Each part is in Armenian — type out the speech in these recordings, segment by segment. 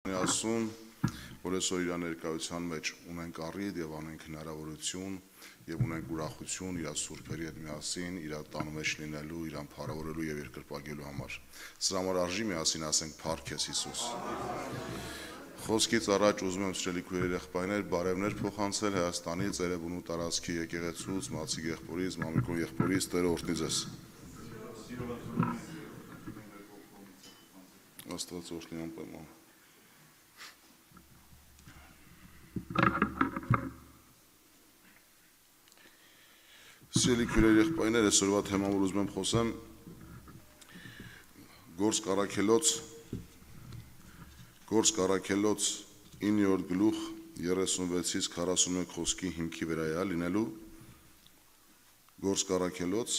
Ասում, որ այսօր իր ներկայության մեջ ունենք առիթ եւ անենք հնարավորություն եւ ունենք ուրախություն իր սուրբերի հետ միասին իր տան մեջ լինելու, իրան փառավորելու եւ երկրպագելու համար։ Սրա համար արժի միասին ասենք Փառք ես Հիսուս։ Խոսքից առաջ ուզում եմ սիրելի քույրեր եղբայրներ բարևներ փոխանցել Հայաստանից, Երևանու տարածքի եկեղեցուց, Մացի եղբորից, Մամիկո եղբորից, Տերը օրհնի ձեզ։ Աստված օրհնի անպայման։ Սիրելի քույրեր եղբայրներ, այսօրվա թեման, որ ուզում եմ խոսեմ, Գործ Առաքելոց 9-րդ գլուխ 36-ից 41 խոսքի հիմքի վրա է լինելու։ Գործ Առաքելոց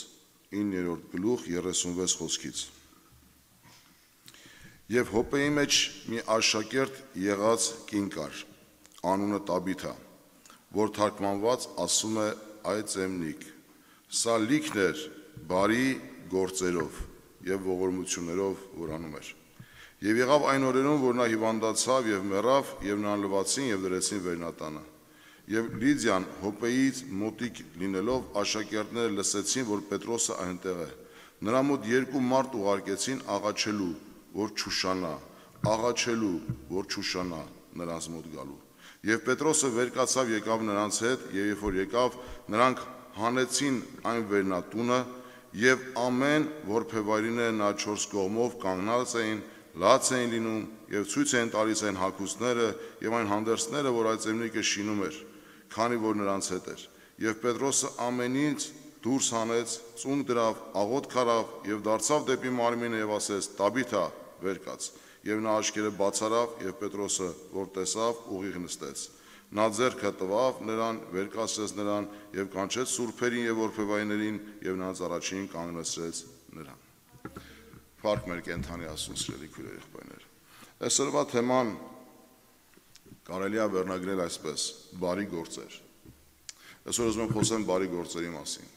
9-րդ գլուխ 36 խոսքից։ Եվ Հոպեի մեջ մի աշակերտ եղած կին կար, անունը Տաբիթա, որ թարգմանված ասում է այծեմնիկ, սա լիքն էր բարի գործերով եւ ողորմություններով, որ անում էր։ Եվ եղավ այն օրերում, որ նա հիվանդացավ եւ մեռավ, եւ նրան լվացին եւ դրեցին վերնատանը։ Եվ Լիդիան Հոպեից մոտիկ լինելով աշակերտները լսեցին, որ Պետրոսը այնտեղ է։ Նրա մոտ երկու մարդ ուղարկեցին աղաչելու, որ չուշանա նրանց մոտ գալու։ Եվ Պետրոսը վեր կացավ եկավ նրանց հետ, եւ երբ որ եկավ, նրանք հանեցին այն վերնատունը, եւ ամեն որբևայրիները նա 4 կողմով կանգնած էին, լաց էին լինում եւ ցույց էին տալիս այն հագուստները եւ այն հանդերձները, որ այծեմնիկը շինում էր, քանի որ նրանց հետ էր։ Եվ Պետրոսը ամենից դուրս հանեց, ծուն դրավ, աղոտ քարավ եւ դարձավ դեպի մարմինը եւ ասեց. Տաբիթա, վեր կաց։ Եվ նա աչքերը բաց արավ եւ Պետրոսը, որ տեսավ, ուղիղ նստեց։ Նա ձեռքը տվավ նրան, վեր կացրեց նրան եւ կանչեց սուրբերին եւ որբևայրներին եւ նրանց առաջին կանգնեցրեց նրան։ Փառք մեր կենթանի Աստծուն, սիրելի քույրեր եղբայրներ։ Այսօրվա թեման կարելի է վերնագրել այսպես. բարի գործեր։ Այսօր ուզում եմ խոսեմ բարի գործերի մասին։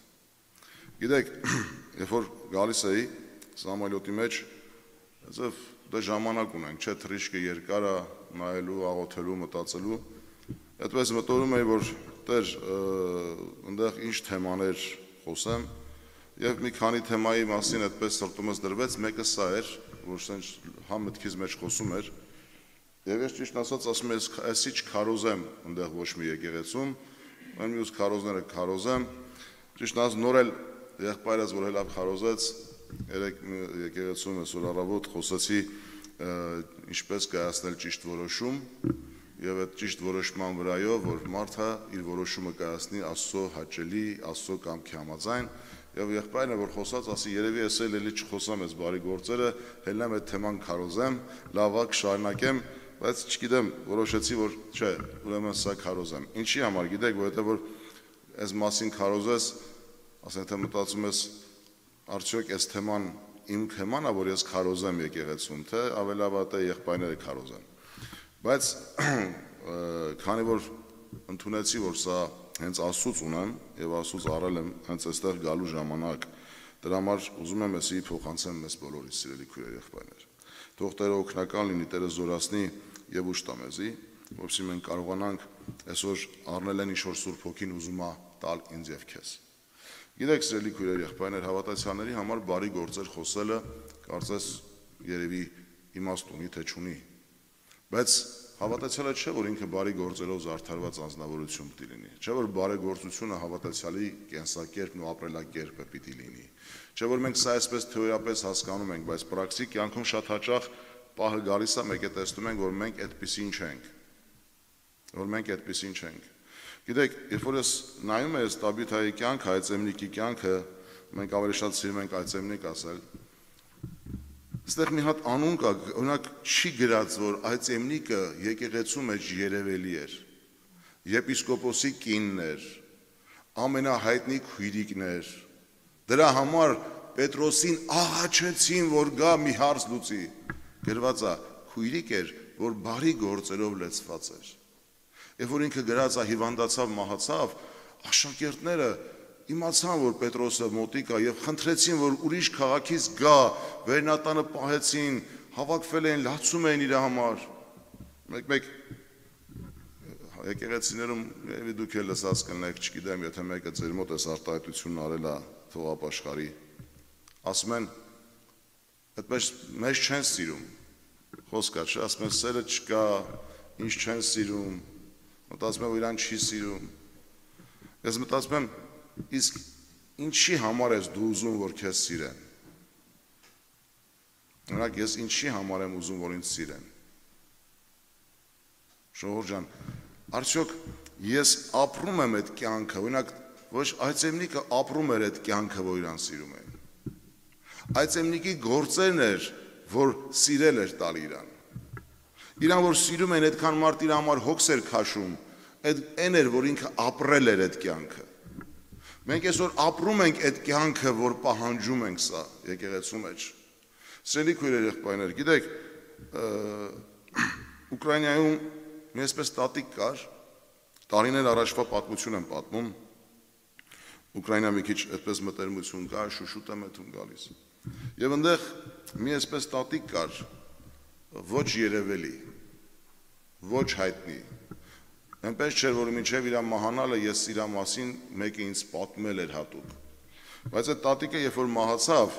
Գիտեք, երբ որ գալիս էի Սամալյոտի մեջ, այսով դե ժամանակ ունենք, չէ, թռիչքը երկար է, նայելու, աղոթելու, մտածելու։ Այդպես մտորում էի, որ Տեր, այնտեղ ինչ թեմաներ խոսեմ, եւ մի քանի թեմայի մասին այդպես սրտումս դրվեց, մեկը սա էր, որ սենց հա մտքից մեջ խոսում էր, եւ ես ճիշտ ասած ասում եմ, այսի չքարոզեմ այնտեղ ոչ մի եկեղեցում, այն մյուս քարոզները քարոզեմ, ճիշտ ասած նոր էլ եղբայրս, որ հելավ քարոզեց, երեք եկեղեցում այսօր առավոտ խոսեցի ինչպես կայացնել ճիշտ որոշում, եւ այդ ճիշտ որոշման վրայով, որ մարդը իր որոշումը կայացնի Աստծո հաճելի, Աստծո կամքի համաձայն, եւ եղբայրն է, որ խոսած, ասի երևի ես էլի չխոսամ այս բարի գործերը, հելնեմ այդ թեման քարոզեմ, լավ ակ շարունակեմ, բայց չգիտեմ, որոշեցի, որ չէ, ուրեմն սա քարոզեմ։ Ինչի համար, գիտեք, որովհետեւ որ այս մասին քարոզես, ասենք թե մտածում ես, արդյոք այս թեման իմ թեման է, որ ես քարոզեմ եկեղեցում, թե ավելավատ է եղբայրները քարոզեն։ Բայց քանի որ ընդունեցի, որ սա հենց Աստծուց ունեմ եւ Աստծուց առել եմ հենց այստեղ գալու ժամանակ, դրա համար ուզում եմ էսի փոխանցեմ մեզ բոլորիս, սիրելի քույրեր եղբայրներ։ Թող Տերը օգնական լինի, Տերը զորացնի եւ ուշ տա մեզի, որովհետեւ մենք կարողանանք այսօր առնել են ինչ-որ Սուրբ Հոգին ուզում է տալ ինձ եւ քեզ։ Գիտեք, սիրելի քույրեր եղբայրներ, հավատացյալների համար բարի գործեր խոսելը կարծես երևի իմաստ ունի, թե չունի։ Բայց հավատացյալը չէ, որ ինքը բարի գործերով զարդարված անձնավորություն պիտի լինի։ Չէ, որ բարեգործությունը հավատացյալի կենսակերպն ու ապրելակերպը պիտի լինի։ Չէ, որ մենք սա այսպես թեորիապես հասկանում ենք, բայց պրակտիկ կյանքում շատ հաճախ պահը գալիս է, մեկ է տեսնում ենք, որ մենք այդպեսին չենք։ Գիտեք, երբ որ ես նայում եմ Տաբիթայի կյանքը, այծեմնիկի կյանքը, մենք ավելի շատ սիրում ենք այծեմնիկ ասել։ Այստեղ մի հատ անուն կա, օրինակ չի գրած, որ այծեմնիկը եկեղեցու մեջ երևելի էր, եպիսկոպոսի կինն էր, ամենահայտնի քույրիկն էր, դրա համար Պետրոսին աղաչեցին, որ գա մի հարց լուծի, գրված է, քույրիկ էր, որ բարի գործերով լեցված էր, երբ որ ինքը գրած է հիվանդացավ, մահացավ, աշակերտները իմացան, որ Պետրոսը մոտիկ է եւ խնդրեցին, որ ուրիշ քաղաքից գա, վերնատանը պահեցին, հավաքվել էին, լացում էին իր համար։ մեկ եկեղեցիներում դուք էլ լսած կլինեք, չգիտեմ, եթե մեկը ձեր մոտ էս արտահայտությունն արել է թողապաշխարի, ասում են, այդպես մեզ չեն սիրում, խոսք է, չէ, ասում են սերը չկա, ինչ չեն սիրում, մտածում եմ, որ իրան չի սիրում, ես մտածում եմ, իսկ ինչի համար ես դու ուզում, որ քեզ սիրեն, օրինակ ես ինչի համար եմ ուզում, որ ինձ սիրեն, Ժողովուրդ ջան, արդյոք ես ապրում եմ այդ կյանքը, օրինակ ոչ Այծեմնիկը ապրում էր այդ կյանքը, որ իրան սիրում էին։ Այծեմնիկի գործերն էր, որ սիրել էր տալ իրան։ Իրան որ սիրում են, այդքան մարդ իր համար հոգս էր քաշում, այն էր, որ ինքը ապրել էր այդ կյանքը։ Մենք այսօր ապրում ենք այդ կյանքը, որ պահանջում ենք սա եկեղեցու մեջ։ Սիրելի քույրեր, եղբայրներ, գիտեք, Ուկրաինայում մի այսպես տատիկ կար, տարիներ առաջվա պատմություն եմ պատմում, Ուկրաինա մի քիչ այդպես մտերմություն կար, շուշուտ եմ այդում գալիս։ Եվ այնտեղ մի այսպես տատիկ կար, ոչ երևելի, ոչ հայտնի։ Այնպես չէր, որ մինչև իր մահանալը ես իր մասին մեկը ինձ պատմել էր հատուկ։ Բայց այդ տատիկը երբ որ մահացավ,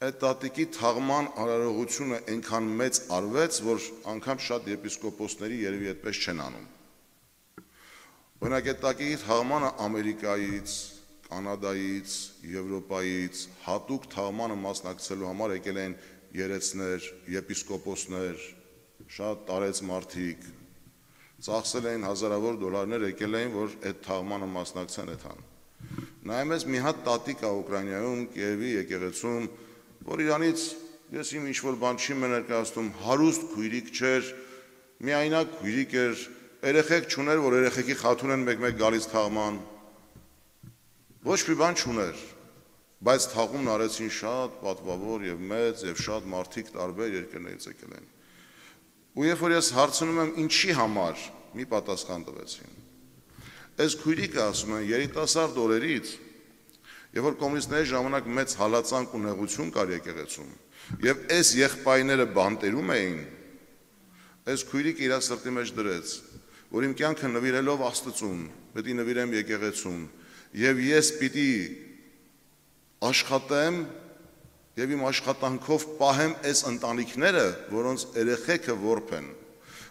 այդ տատիկի թաղման արարողությունը այնքան մեծ արվեց, որ անգամ շատ եպիսկոպոսների երևի այդպես չեն անում։ Օրինակ այդ տատիկի թաղմանը Ամերիկայից, Կանադայից, Եվրոպայից հատուկ թաղմանը մասնակցելու համար եկել են երեցներ, եպիսկոպոսներ, շատ տարեց մարդիկ, ծախսել էին հազարավոր դոլարներ, եկել էին, որ այդ թաղմանը մասնակցեն այդան։ Նայում ես մի հատ տատիկ է Ուկրաինայում, Կիևի եկեղեցում, որ իրանից ես իմ ինչ-որ բան չի ներկայացնում, հարուստ քույրիկ չէր, միայնակ քույրիկ էր, երեխեք չուներ, որ երեխեքի խաթուն են մեկ-մեկ գալիս թաղման, ոչ մի բան չուներ, բայց թաղումն արեցին շատ պատվավոր և մեծ և շատ մարդիկ տարբեր երկրներից եկել են։ Ու երբ որ ես հարցնում եմ ինչի համար, մի պատասխան տվեցին։ Այս քույրիկը ասում են երիտասարդ օրերից, երբ որ կոմունիստների ժամանակ մեծ հալածանք ու նեղություն կար եկեղեցում, եւ այս եղբայրները բանտերում էին, այս քույրիկը իր սրտի մեջ դրեց, որ իմ կյանքը նվիրելով Աստծուն, պետք է նվիրեմ եկեղեցուն, եւ ես պիտի աշխատեմ եւ իմ աշխատանքով պահեմ այս ընտանիքները, որոնց երեխեքը որբ են,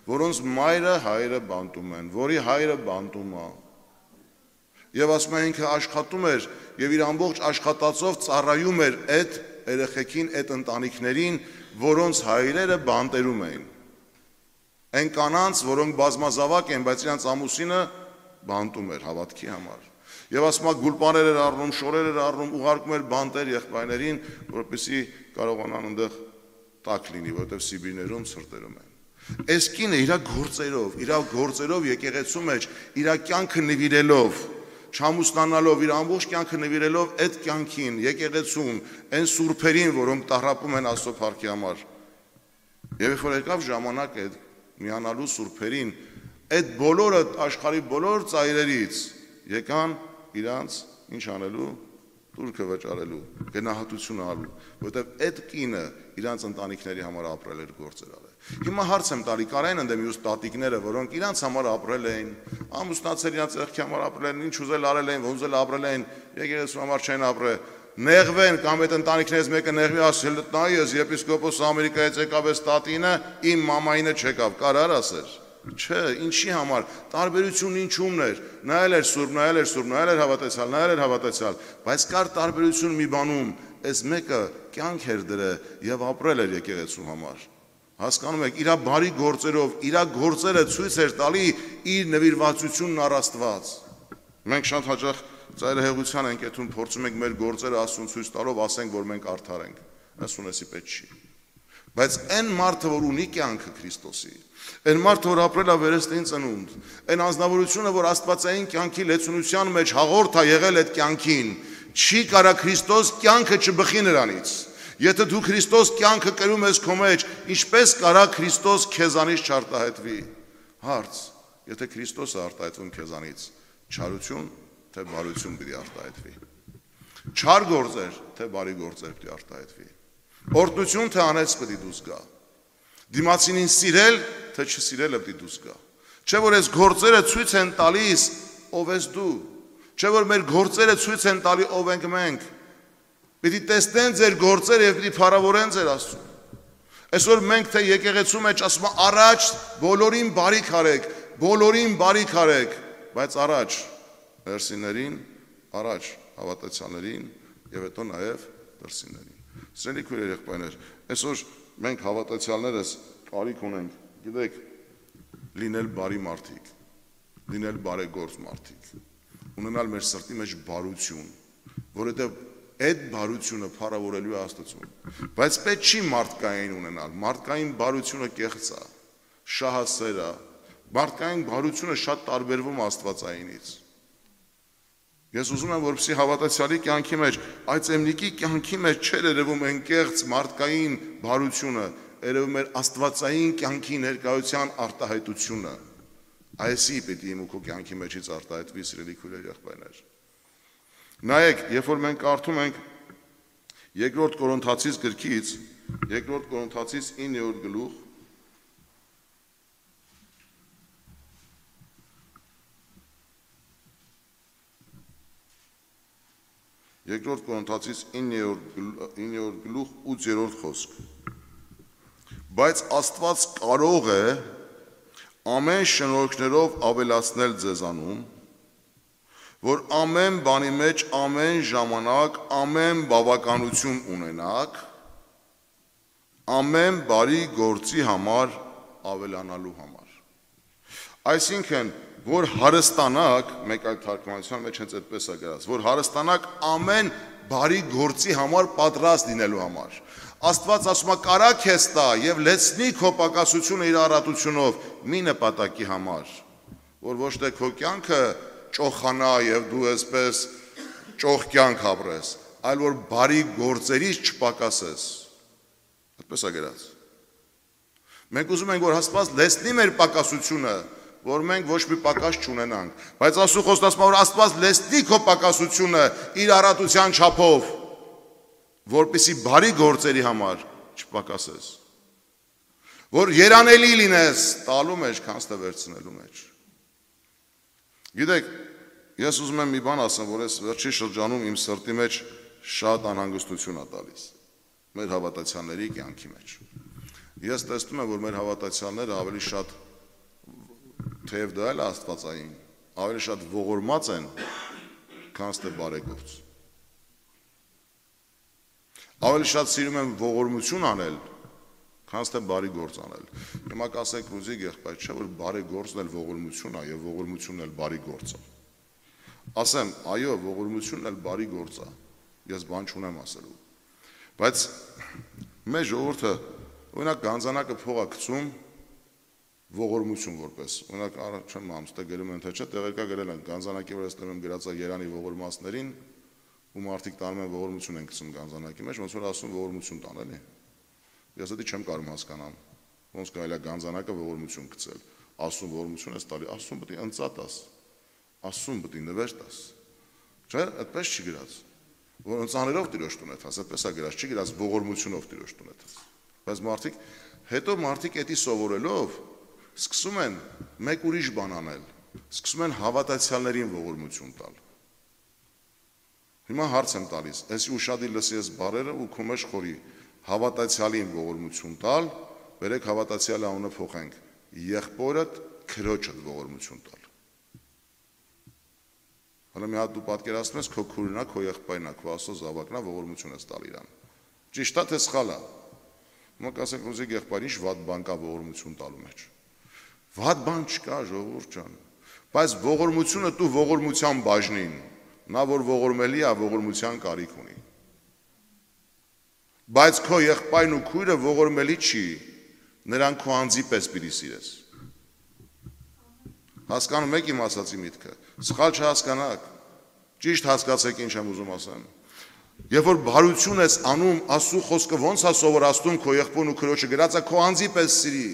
որոնց մայրը հայրը բանտում են, որի հայրը բանտում է։ Եվ ասում են ինքը աշխատում էր եւ իր ամբողջ աշխատածով ծառայում էր այդ երեխեքին, այդ ընտանիքներին, որոնց հայրերը բանտերում էին։ Այն կանանց, որոնք բազմազավակ են, բայց իրանց ամուսինը բանտում էր հավատքի համար։ Եվ ասում է գուլպաներ էր առնում, շորեր էր առնում, ուղարկում էր բանտեր եղբայրներին, որպեսզի կարողանան այնտեղ տաք լինի, որովհետև Սիբիրներում ցրտերում են։ Այս կինը իր գործերով եկեղեցու մեջ իր կյանքը նվիրելով, չամուսնանալով, իր ամբողջ կյանքը նվիրելով այդ կյանքին, եկեղեցուն, այն սուրբերին, որոնք տառապում են Աստծո փառքի համար։ Եվ երբ որ եկավ ժամանակը միանալու սուրբերին, այդ բոլորը աշխարհի բոլոր ծայրերից եկան իրանց ինչ անելու, տուրքը վճարելու, գնահատություն արելու, որովհետև այդ կինը իրանց ընտանիքների համար ապրել էր, գործեր արել։ Հիմա հարց եմ տալի, կարային ընդեմ մյուս տատիկները, որոնք իրանց համար ապրել էին, ամուսնացել իրանց եղքի համար ապրել են, ինչ ուզել արել էին, ոնց էլ ապրել էին, եկեղեցու համար չեն ապրել, նեղվեն կամ այդ ընտանիքներից մեկը նեղվի, ասել նայ ես եպիսկոպոս Ամերիկայից եկավ այս տատինը, իմ մամայինը չեկավ, կարար ասեր։ Չէ, ինչի համար, տարբերությունն ինչումն էր, նայել էր սուրբ, նայել էր հավատացյալ, բայց կար տարբերություն մի բանում, այս մեկը կյանք էր դրել եւ ապրել էր եկեղեցու համար։ Հասկանում եք, իր բարի գործերով, իր գործերը ցույց էր տալի իր նվիրվածությունն առ Աստված։ Մենք շատ հաճախ ծայրահեղության ենք այդում փորձում ենք մեր գործերը Աստծուն ցույց տալով ասենք, որ մենք արդար ենք։ Ասունեսի պետք չի։ Բայց այն մարդը, որ ունի կյանքը Քրիստոսի, այն մարդը, որ ապրել է վերստին ծնունդ, այն անձնավորությունը, որ աստվածային կյանքի լեցունության մեջ հաղորդ է եղել այդ կյանքին, չի կարա Քրիստոս կյանքը չբխի նրանից։ Եթե դու Քրիստոս կյանքը կրում ես քո մեջ, ինչպես կարա Քրիստոս քեզանից չարտահայտվի։ Հարց. Եթե Քրիստոսը արտահայտվում քեզանից, չարություն թե բարություն պիտի արտահայտվի։ Չար գործեր թե բարի գործեր պիտի արտահայտվի։ Օրհնություն թե անեծք պիտի դուրս գա։ Դիմացինին սիրել, թե չսիրելը պիտի դուրս գա։ Չէ որ այս գործերը ցույց են տալիս ով ես դու։ Չէ որ մեր գործերը ցույց են տալի ով ենք մենք։ Պիտի տեսնեն ձեր գործերը եւ պիտի փառավորեն ձեր Աստծուն։ Այսօր մենք թե եկեղեցու մեջ ասում ենք առաջ բոլորին բարիք արեք, բոլորին բարիք արեք, բայց առաջ վերսիներին, առաջ հավատացյալներին եւ հետո նաեւ դրսիներին։ Սիրելի քույրեր, եղբայրներ, այսօր մենք հավատացյալներս կարիք ունենք, գիտեք, լինել բարի մարդիկ, լինել բարեգործ մարդիկ, ունենալ մեր սրտի մեջ բարություն, որովհետև այդ բարությունը փառավորելու է Աստծուն։ Բայց պետք չի մարդկային ունենալ, մարդկային բարությունը կեղծ է, շահասեր է, մարդկային բարությունը շատ տարբերվում Աստվածայինից։ Ես ուզում եմ, որպեսզի հավատացյալի կյանքի մեջ, այդ էմնիկի կյանքի մեջ չէր երևում այն կեղծ մարդկային բարությունը, երևում էր աստվածային կյանքի ներկայության արտահայտությունը։ Այսի պիտի իմ ու քո կյանքի մեջից արտահայտվի, սիրելի քույրեր, եղբայրներ։ Նայեք, երբ որ մենք կարդում ենք Երկրորդ Կորինթացիս գրքից, Երկրորդ Կորինթացիս 9-րդ գլուխ, Երկրորդ Կորինթացիս 9-րդ գլուխ 8-րդ խոսք։ Բայց Աստված կարող է ամեն շնորհքներով ավելացնել ձեզանում, որ ամեն բանի մեջ ամեն ժամանակ ամեն բավականություն ունենաք, ամեն բարի գործի համար ավելանալու համար։ Այսինքն, որ հարստանաք, մեկ այլ թարգմանության մեջ հենց այդպես է գրած, որ հարստանաք ամեն բարի գործի համար պատրաստ լինելու համար։ Աստված ասում է կարա քեզ տա եւ լեցնի քո պակասությունը իր առատությունով մի նպատակի համար, որ ոչ թե քո կյանքը ճոխանա եւ դու այսպես ճոխ կյանք ապրես, այլ որ բարի գործերից չպակասես։ Այդպես է գրած։ Մենք ուզում ենք որ Աստված լեցնի մեր պակասությունը, որ մենք ոչ մի պակաս չունենանք, բայց Աստծո խոսքը ասում է որ Աստված լեցնի քո պակասությունը իր առատության չափով, որպեսզի բարի գործերի համար չպակասես, որ երանելի լինես տալու մեջ, քան ստե վերցնելու մեջ։ Գիտեք, ես ուզում եմ մի բան ասեմ, որ այս վերջի շրջանում իմ սրտի մեջ շատ անհանգստություն է տալիս մեր հավատացյալների կյանքի մեջ։ Ես տեսնում եմ, որ մեր հավատացյալները ավելի շատ թեև դա էլ աստվածային, ավելի շատ ողորմած են, քան ստե բարեգործ։ Ավելի շատ սիրում եմ ողորմություն անել, քան ստե բարի գործ անել։ Հիմա կասեք ռուզիկ եղբայր, չէ՞ որ բարի գործն էլ ողորմություն է եւ ողորմությունն էլ բարի գործ է։ Ասեմ, այո, ողորմությունն էլ բարի գործ է։ Ես բան չունեմ ասելու։ Բայց մեր ժողովուրդը օրինակ գանձանակը փողա գցում ողորմություն որպես։ Օրինակ չեմ ամստե գրում են թե չէ, տեղեկա գրել են գանձանակի վրա ստեմ եմ գրածա Երանի ողորմածներին, ու մարդիկ տանում են ողորմություն են գցում գանձանակի մեջ, ոնց որ ասում ողորմություն տան, էլի։ Ես դա չեմ կարող հասկանամ։ Ոնց կարելի է գանձանակը ողորմություն գցել։ Ասում ողորմություն ես տալի, ասում պետք է ընծա տաս։ Ասում պետք է նվեր տաս։ Չէ՞, այդպես չի գրած։ Որ ընծաներով տիրոջ տուն է տաս, այդպես է գրած, չի գրած ողորմությունով տիրոջ տուն է տաս։ Բայց մարդիկ հետո մարդիկ էդի սովորելով սկսում են մեկ ուրիշ բան անել, սկսում են հավատացյալներին ողորմություն տալ։ Հիմա հարց եմ տալիս, այսի ուշադի լսի ես բարերը ու քո մեջ խորի հավատացյալին ողորմություն տալ, վերեք հավատացյալի անունը փոխենք, եղբորդ քրոջդ ողորմություն տալ։ Հələ մի հատ դու պատկերացնում ես քո քուրն է, քո եղբայրն է, քո Աստծո զավակն է, ողորմություն ես տալ իրան։ Ճիշտ է թե սխալ է։ Հիմա կասեք ռուզիկ եղբայր, ինչ վատ բան կա ողորմություն տալու մեջ։ Վատ բան չկա, ժողովուրդ ջան, բայց ողորմությունը դու ողորմության բաժնին, նա որ ողորմելի է, ողորմության կարիք ունի։ Բայց քո եղբայրն ու քույրը ողորմելի չի, նրան քո անձի պես պիտի սիրես։ Հասկանում եք իմ ասացի միտքը, սխալ չհասկանաք, ճիշտ հասկացեք ինչ եմ ուզում ասեմ։ Երբ որ բարություն ես անում, Աստծո խոսքը ոնց է սովորացնում քո եղբորն ու քրոջը գրած է քո անձի պես սիրի։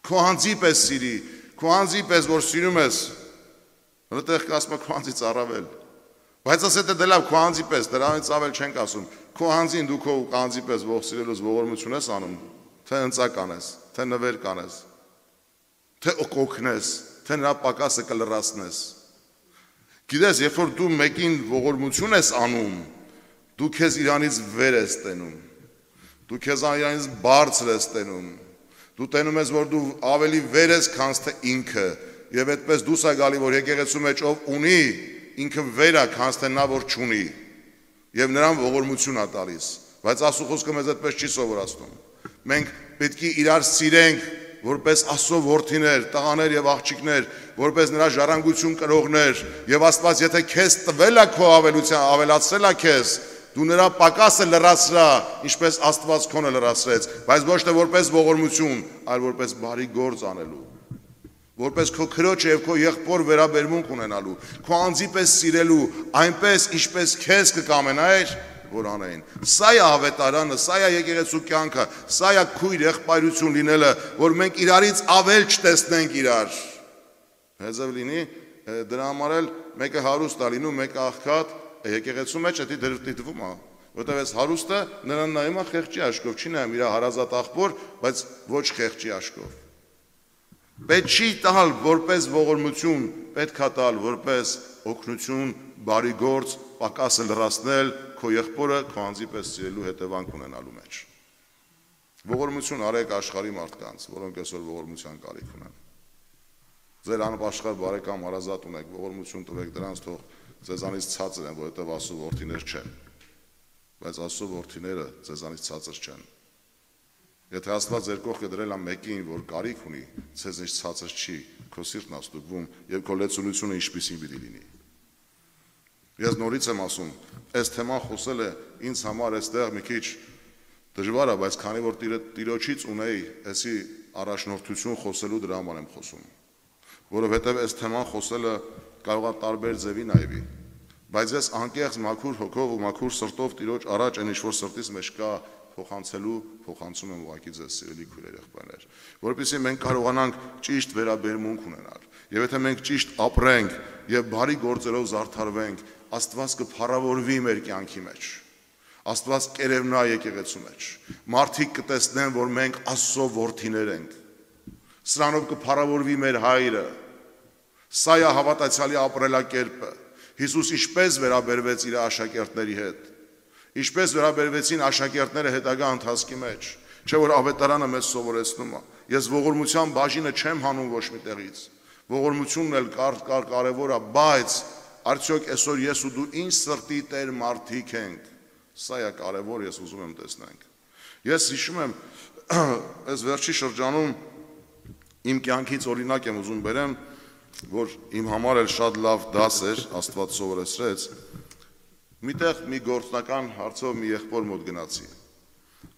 Քո անձի պես սիրի, քո անձի պես որ սիրում ես, որտեղ կասում քո անձից առավել։ Բայց ասես դե լավ քո անձի պես, դրանից ավել չենք ասում։ Քո անձին դու քո անձի պես ող սիրելուց ողորմություն ես անում, թե ընծա կանես, թե նվեր կանես, թե օգնես, թե նրա պակասը կլրացնես։ Գիտես, երբ որ դու մեկին ողորմություն ես անում, դու քեզ իրանից վեր ես տենում, դու քեզ իրանից բարձր ես տենում, դու տենում ես, որ դու ավելի վեր ես, քան թե ինքը, եւ այդպես դուս է գալի, որ եկեղեցու մեջ ով ունի, ինքը վեր է, քան թե նա որ չունի, եւ նրան ողորմություն է տալիս, բայց Աստծո խոսքը մեզ այդպես չի սովորացնում։ Մենք պետք է իրար սիրենք, որպես Աստծո որդիներ, տղաներ եւ աղջիկներ, որպես նրա ժառանգություն կրողներ, եւ Աստված եթե քեզ տվել է քո ավելության, ավելացրել է քեզ, դու նրա պակասը լրացրա, ինչպես Աստված քոնը լրացրեց, բայց ոչ թե որպես ողորմություն, այլ որպես բարի գործ անելու, որպես քո քրոջը եւ քո եղբոր վերաբերմունք ունենալու, քո անձի պես սիրելու, այնպես ինչպես քեզ կկամենայր, որ անեին։ Սա է ավետարանը, սա է եկեղեցու կյանքը, սա է քույր եղբայրություն լինելը, որ մենք իրարից ավել չտեսնենք իրար։ Հեզև լինի, դրա համար էլ մեկը հարուստ է լինում, մեկը աղքատ, եկեղեցու մեջ է դիտվում է, որտեղ այս հարուստը նրան նայում է խեղճի աշկով, չի նայում իր հարազատ աղբոր, բայց ոչ խեղճի աշկով։ Պետք չի տալ որպես ողորմություն, պետք է տալ որպես օգնություն, բարի գործ, պակասը լրացնել, քո եղբորը քո անձի պես սիրելու հետևանք ունենալու մեջ։ Ողորմություն արեք աշխարհի մարդկանց, որոնք այսօր ողորմության կարիք ունեն։ Ձեր անապաշխար բարեկամ հարազատ ունեք, ողորմություն տվեք դրանց, թող ձեզանից ցածր են, որովհետև Աստծո որդիներ չեն։ Բայց Աստծո որդիները ձեզանից ցածր չեն։ Եթե Աստված ձեր կողքը դրել է մեկին, որ կարիք ունի, ձեզնից ցածր չի, քո սիրտն է ստուգվում եւ քո լեցունությունը ինչպիսին պիտի լինի։ Ես նորից եմ ասում, այս թեման խոսել է ինձ համար այստեղ մի քիչ դժվար է, բայց քանի որ Տիրոջից ունեի այսի առաջնորդություն խոսելու, դրա համար եմ խոսում, որովհետեւ այս թեման խոսելը կարող է տարբեր ձևի նայվի, բայց ես անկեղծ մաքուր հոգով ու մաքուր սրտով Տիրոջ առաջ այն ինչ որ սրտիս մեջ կա փոխանցում եմ ուղղակի ձեզ սիրելի քույրեր եղբայրներ, որովհետեւ մենք կարողանանք ճիշտ վերաբերմունք ունենալ, եւ եթե մենք ճիշտ ապրենք եւ բարի գործերով զարդարվենք, Աստված կփառավորվի մեր կյանքի մեջ, Աստված կերևնա եկեղեցու մեջ, մարդիկ կտեսնեն, որ մենք Աստծո որդիներ ենք, սրանով կփառավորվի մեր հայրը, սա է հավատացյալի ապրելակերպը, Հիսուս ինչպես վերաբերվեց իր աշակերտների հետ, ինչպես վերաբերվեցին աշակերտները հետագա ընթացքի մեջ, չէ որ ավետարանը մեզ սովորեցնում է, ես ողորմության բաժինը չեմ հանում ոչ մի տեղից, ողորմությունն էլ կարևոր է, բայց արդյոք այսօր ես ու դու ինչ սրտի տեր մարդիկ ենք, սա է կարևոր, ես ուզում եմ տեսնենք։ Ես հիշում եմ, այս վերջի շրջանում իմ կյանքից օրինակ եմ ուզում բերեմ, որ իմ համար էլ շատ լավ դաս էր, Աստված սովորեցրեց, միտեղ մի գործնական հարցով մի եղբոր մոտ գնացի,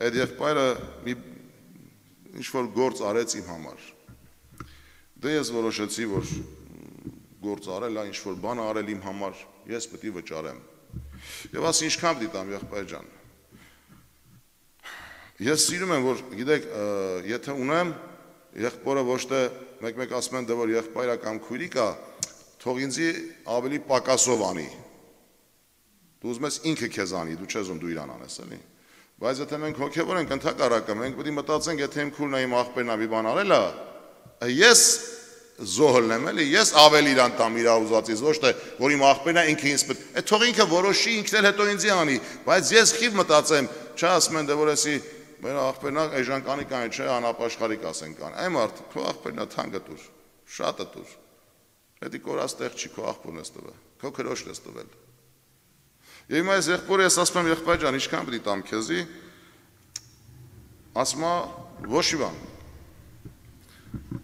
այդ եղբայրը մի ինչ-որ գործ արեց իմ համար, դե ես որոշեցի, որ գործ արել է, ինչ-որ բան արել իմ համար, ես պետք է վճարեմ, և ասի ինչքան դիտամ եղբայր ջան, ես սիրում եմ, որ գիտեք, եթե ունեմ, եղբորը ոչ թե մեկ ասում են, դե որ եղբայրը կամ քույրիկը, թող ինձի ավելի պակասով անի, դու ուզում ես ինքը քեզ անի, դու չես ում դու իրան անես, էլի, բայց եթե մենք հոգևոր ենք ընդհակառակը, մենք պետք է մտածենք, եթե իմ քույրն է իմ աղբերն է մի բան արել է, ես զոհլն եմ, էլի, ես ավելի իրան տամ իր ուզածից, ոչ թե որ իմ աղբերն է ինքը ինձ պետք, այդ թող ինքը որոշի, ինքն էլ հետո ինձի անի, բայց ես խիվ մտածեմ, չէ ասում են, դե որ էսի մեր աղբերն է էժանկանի կանի չէ, անապաշխարի կասեն կան, այ մարդ, քո աղբերն է թանկը տուր, շատը տուր, հետի կորած տեղ չի, քո աղբորն ես տվել, քո քրոջն ես տվել։ Եվ հիմա այս եղբորը ես ասում եմ եղբայր ջան, ինչքան պետք է տամ քեզի, ասում է ոչ մի բան։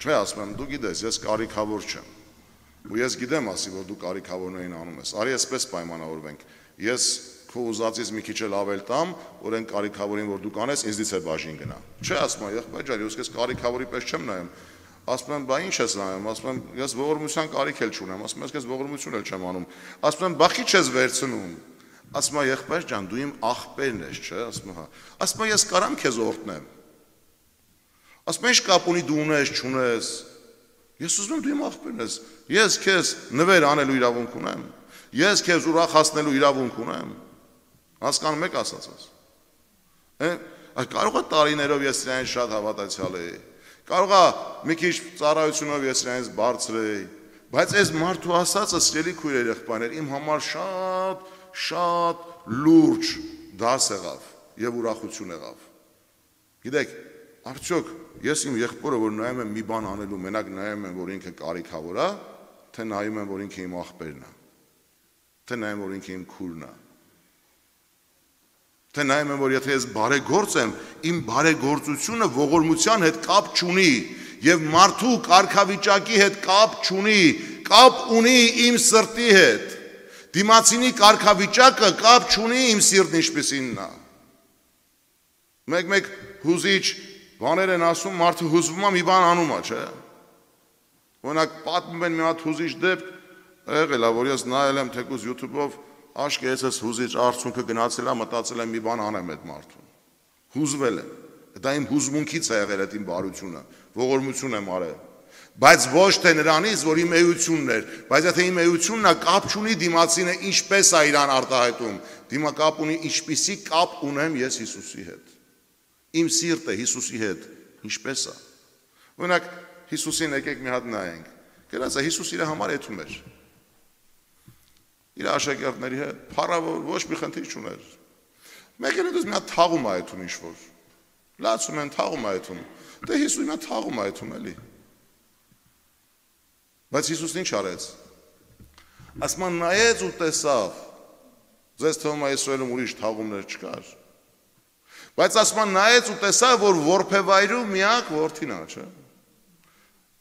Չէ, ասում եմ, դու գիտես, ես կարիքավոր չեմ։ Ու ես գիտեմ ասի, որ դու կարիքավորներին անում ես։ Արի այսպես պայմանավորվենք։ Ես քո ուզածից մի քիչ էլ ավել տամ, որ այն կարիքավորին, որ դու կանես, ինձնից է բաժին գնա։ Չէ, ասում եմ, եղբայր ջան, ես քեզ կարիքավորի պես չեմ նայում։ Ասում եմ, բա ինչ ես նայում, ասում եմ, ես ողորմության կարիք էլ չունեմ, ասում եմ, ես քեզ ողորմություն էլ չեմ անում։ Ասում եմ, բա խի չես վերցնում։ Ասում եմ, եղբայր ջան, դու իմ աղբերն ես, չէ, ասում եմ, հա։ Ասում եմ, ես կարամ քեզ օրհնեմ։ Ասում եմ, ինչ կապ ունի դու ունես, չունես։ Ես ուզում եմ դու իմ աղբերն ես։ Ես քեզ նվեր անելու իրավունք ունեմ։ Ես քեզ ուրախացնելու իրավունք ունեմ։ Հասկանում եք ասածս։ Կարող է տարիներով ես իրեն շատ հավատացյալ էի, կարող է մի քիչ ծառայությունով ես իրենից բարձր էի, բայց այս մարդու ասածը, սիրելի քույրեր, եղբայրներ, իմ համար շատ լուրջ դաս եղավ եւ ուրախություն եղավ։ Գիտեք, արդյոք ես իմ եղբորը, որ նայում եմ մի բան անելու, մենակ նայում եմ, որ ինքը կարիքավոր է, թե նայում եմ, որ ինքը իմ աղբերն է, թե նայում, որ ինքը իմ քուրն է, թե նայում եմ, որ եթե ես բարեգործ եմ, իմ բարեգործությունը ողորմության հետ կապ չունի եւ մարդու կարգավիճակի հետ կապ չունի, կապ ունի իմ սրտի հետ։ Դիմացինի կարգավիճակը կապ չունի իմ սիրտն ինչպեսինն է։ Մեկ հուզիչ բաներ են ասում, մարդը հուզվում է մի բան անում է, չէ՞։ Օրինակ պատմում են մի հատ հուզիչ դեպք, եղել է, որ ես նայել եմ թեկուզ YouTube-ով, աշկե ես հուզիչ արդյունքը գնացել է, մտածել եմ մի բան անեմ այդ մարդուն։ Հուզվել եմ։ Դա իմ հուզմունքից է եղել այդ իմ բարությունը, ողորմություն եմ արել։ Բայց ոչ թե նրանից, որ իմ էությունն էր, բայց եթե իմ էությունն է, կապ չունի դիմացինը ինչպես է իրան արտահայտում, դիմա կապ ունի ինչպիսի կապ ունեմ ես Հիսուսի հետ։ Իմ սիրտը Հիսուսի հետ ինչպես է։ Օրինակ Հիսուսին եկեք մի հատ նայենք։ Գնաց է Հիսուս իր համար էթում էր։ Իր աշակերտների հետ փառավոր ոչ մի խնդիր չուներ։ Մեկը դուք մի հատ թաղում է այդում ինչ-որ։ Լացում են թաղում է այդում։ Դե Հիսուսը մի հատ թաղում է այդում էլի։ Բայց Հիսուսն ինչ արեց։ Ասման նայեց ու տեսավ։ Ձեզ թվում է Իսրայելում ուրիշ թաղումներ չկար։ Բայց ասման նայեց ու տեսավ, որ որբևայրու միակ որդին է, չէ՞։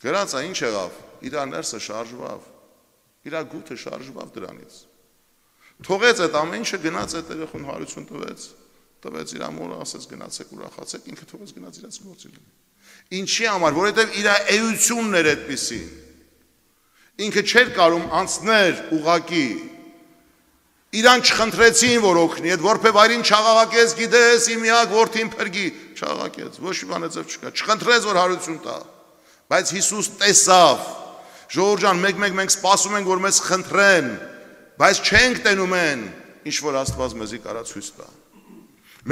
Գրած է ինչ եղավ։ Իր ներսը շարժվավ։ Իր գութը շարժվավ դրանից։ Թողեց այդ ամեն ինչը, գնաց այդ երեխուն հարություն տվեց իր մորը, ասեց գնացեք ուրախացեք, ինքը թողեց գնաց իրաց գործին։ Ինչի համար, որովհետև իր էությունն էր այդպիսին։ Ինքը չէր կարող անցներ ուղակի։ Իրան չխնդրեցին, որ օգնի, այդ որբևայրին չաղաղակեց, գիտես, իմ միակ որդին փրկի, չաղաղակեց, ոչ մի բան այդպես չկա, չխնդրեց, որ հարություն տա։ Բայց Հիսուս տեսավ։ Ժողովուրդ ջան, մեկ մենք սպասում ենք, որ մեզ խնդրեն, բայց չենք տենում են, ինչ որ Աստված մեզի կարա ցույց տա։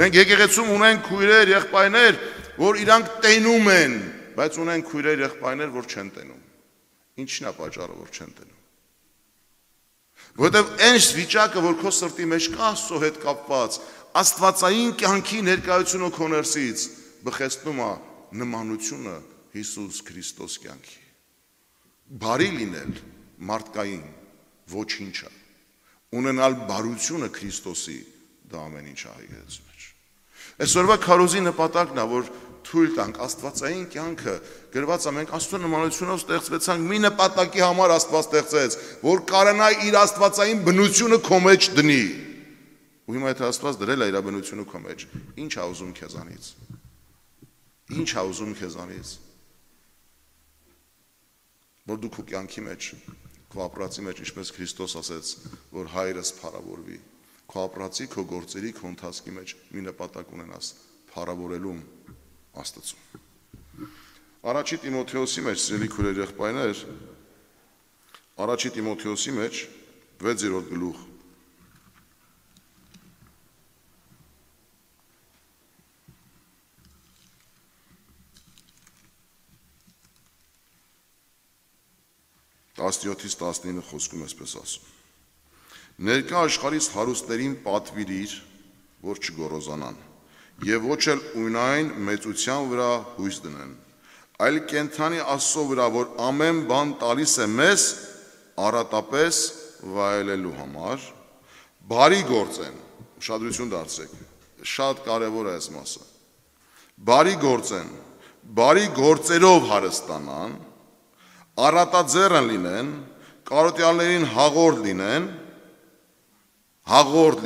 Մենք եկեղեցում ունենք քույրեր, եղբայրներ, որ իրանք տենում են, բայց ունենք քույրեր, եղբայրներ, որ չեն տենում։ Ինչն է պատճառը, որ չեն տենում։ Որովհետև այն վիճակը, որ քո սրտի մեջ կա Աստծո հետ կապված, աստվածային կյանքի ներկայությունը քո ներսից բխեցնում է նմանությունը Հիսուս Քրիստոս կյանքի։ Բարի լինել մարդկային ոչինչ է, ունենալ բարությունը Քրիստոսի դա ամեն ինչ է եկեղեցու մեջ։ Այսօրվա քարոզի նպատակն է, որ թույլ տանք աստվածային կյանքը գրված է, մենք Աստծո նմանությունով ստեղծվեցանք, մի նպատակի համար Աստված ստեղծեց, որ կարողանա իր աստվածային բնությունը քո մեջ դնի։ Ու հիմա եթե Աստված դրել է իր բնությունը քո մեջ, ի՞նչ է ուզում քեզանից։ Ի՞նչ է ուզում քեզանից։ Որ դու քո կյանքի մեջ, քո ապրածի մեջ, ինչպես Քրիստոս ասեց, որ հայրս փառավորվի, քո ապրածի, քո գործերի, քո ընթացքի մեջ մի նպատակ ունենաս, փառավորելու Աստծուն։ Առաջի Տիմոթեոսի մեջ, սիրելի քույրեր, եղբայրներ, Առաջի Տիմոթեոսի մեջ 6-րդ գլուխ Տասնյոթից 19 խոսքում էսպես ասում. Ներկա աշխարհից հարուստներին պատվիրիր, որ չգոռոզանան, եւ ոչ էլ ունայն մեծության վրա հույս դնեն, այլ կենթանի Աստծո վրա, որ ամեն բան տալիս է մեզ առատապես վայելելու համար, բարի գործեն, ուշադրություն դարձրեք, շատ կարևոր է այս մասը, բարի գործեն, բարի գործերով հարստանան, առատաձեռն լինեն, կարոտյալներին հաղորդ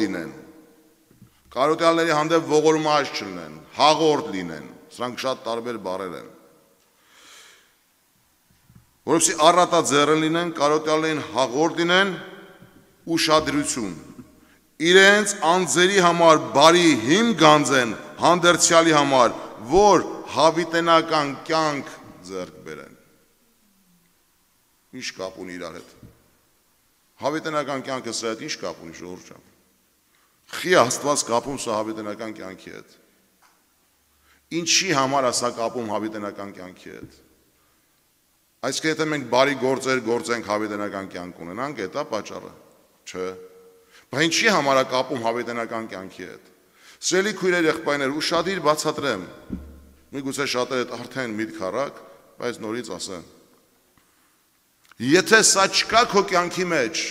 լինեն, կարոտյալների հանդեպ ողորմած չլինեն, հաղորդ լինեն, սրանք շատ տարբեր բառեր են, որովհետեւ առատաձեռն լինեն, կարոտյալներին հաղորդ լինեն, ուշադրություն, իրենց անձերի համար բարի հիմք գանձեն, հանդերձյալի համար, որ հավիտենական կյանք ձեռք բերեն։ Ինչ կապ ունի իրար հետ։ Հավիտենական կյանքը սրա հետ ինչ կապ ունի, ժողովուրդ ջան։ Խի Աստված կապում սա հավիտենական կյանքի հետ։ Ինչի համար է սա կապում հավիտենական կյանքի հետ։ Այսինքն եթե մենք բարի գործեր գործենք հավիտենական կյանք ունենանք, դա պատճառը, չէ։ Բայց ինչի համար է կապում հավիտենական կյանքի հետ։ Սիրելի քույրեր, եղբայրներ, ուշադիր բացատրեմ։ Միգուցե շատերը արդեն միտք առակ, բայց նորից ասեմ։ Եթե սա չկա քո կյանքի մեջ,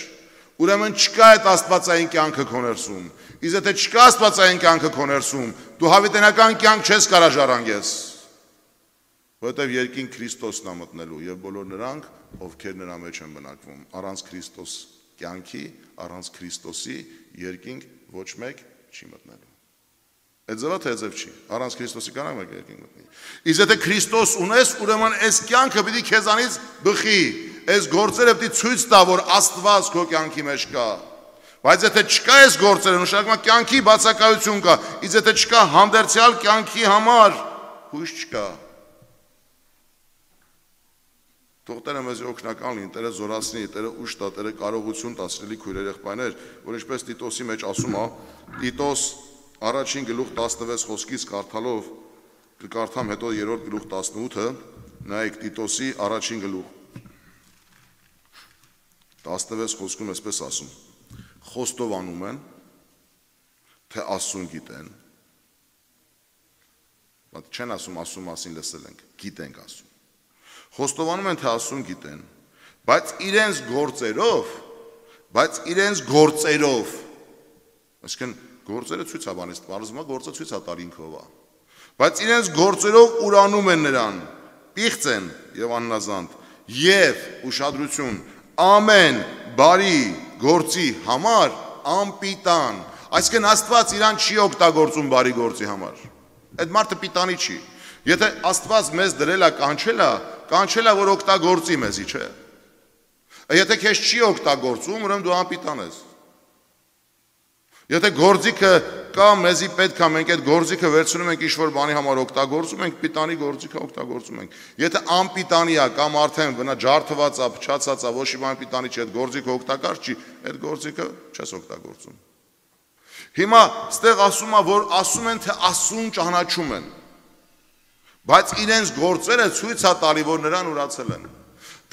ուրեմն չկա այդ աստվածային կյանքը քո ներսում։ Իսկ եթե չկա աստվածային կյանքը քո ներսում, դու հավիտենական կյանք չես կարող ժառանգես։ Որովհետև երկին Քրիստոսն է մտնելու եւ բոլոր նրանք, ովքեր նրա մեջ են բնակվում, առանց Քրիստոս կյանքի, առանց Քրիստոսի երկինք ոչ մեկ չի մտնելու։ Այդ ձևը թե ձև չի, առանց Քրիստոսի կանանք մեկ երկինք մտնի։ Իսկ եթե Քրիստոս ունես, ուրեմն այս կյանքը պիտի քեզանից բխի, այս գործերը պիտի ցույց տա, որ Աստված քո կյանքի մեջ կա։ Բայց եթե չկա այս գործերը, նշանակում է կյանքի բացակայություն կա, իսկ եթե չկա հանդերձյալ կյանքի համար հույս չկա։ Թող Տերը մեզ օգնական լինի, Տերը զորացնի, Տերը ուժ տա, Տերը կարողություն տա, սիրելի քույրեր, եղբայրներ, որ ինչպես Տիտոսի մեջ ասում է, Տիտոս առաջին գլուխ 16 խոսքից կարդալով, կկարդամ հետո 3-րդ գլուխ 18-ը, նայեք Տիտոսի առաջին գլուխ 16 խոսքում այսպես ասում. Խոստովանում են, թե Աստծուն գիտեն, չեն ասում Աստծու մասին լսել ենք, գիտենք Աստծուն։ Խոստովանում են, թե Աստծուն գիտեն, բայց իրենց գործերով, այսինքն գործերը ցույց է բանից, բարձում է գործը ցույց է տարինքով է, բայց իրենց գործերով ուրանում են նրան, պիղծ են եւ աննազանդ, եւ ուշադրություն, ամեն բարի գործի համար անպիտան, այսինքն Աստված իրան չի օգտագործում բարի գործի համար, այդ մարդը պիտանի չի, եթե Աստված մեզ դրել է կանչել է, որ օգտագործի մեզի, չէ։ Եթե քեզ չի օգտագործում, ուրեմն դու անպիտան ես։ Եթե գործիքը կա, մեզի պետք է, մենք այդ գործիքը վերցնում ենք ինչ-որ բանի համար օգտագործում ենք, պիտանի գործիքը օգտագործում ենք։ Եթե անպիտանի է կամ արդեն ջարդված է, փչացած է, ոչ մի բան պիտանի չի, այդ գործիքը օգտակար չի, այդ գործիքը չես օգտագործում։ Հիմա ստեղ ասում է, որ ասում են, թե Աստծուն ճանաչում են, բայց իրենց գործերը ցույց է տալի, որ նրան ուրացել են։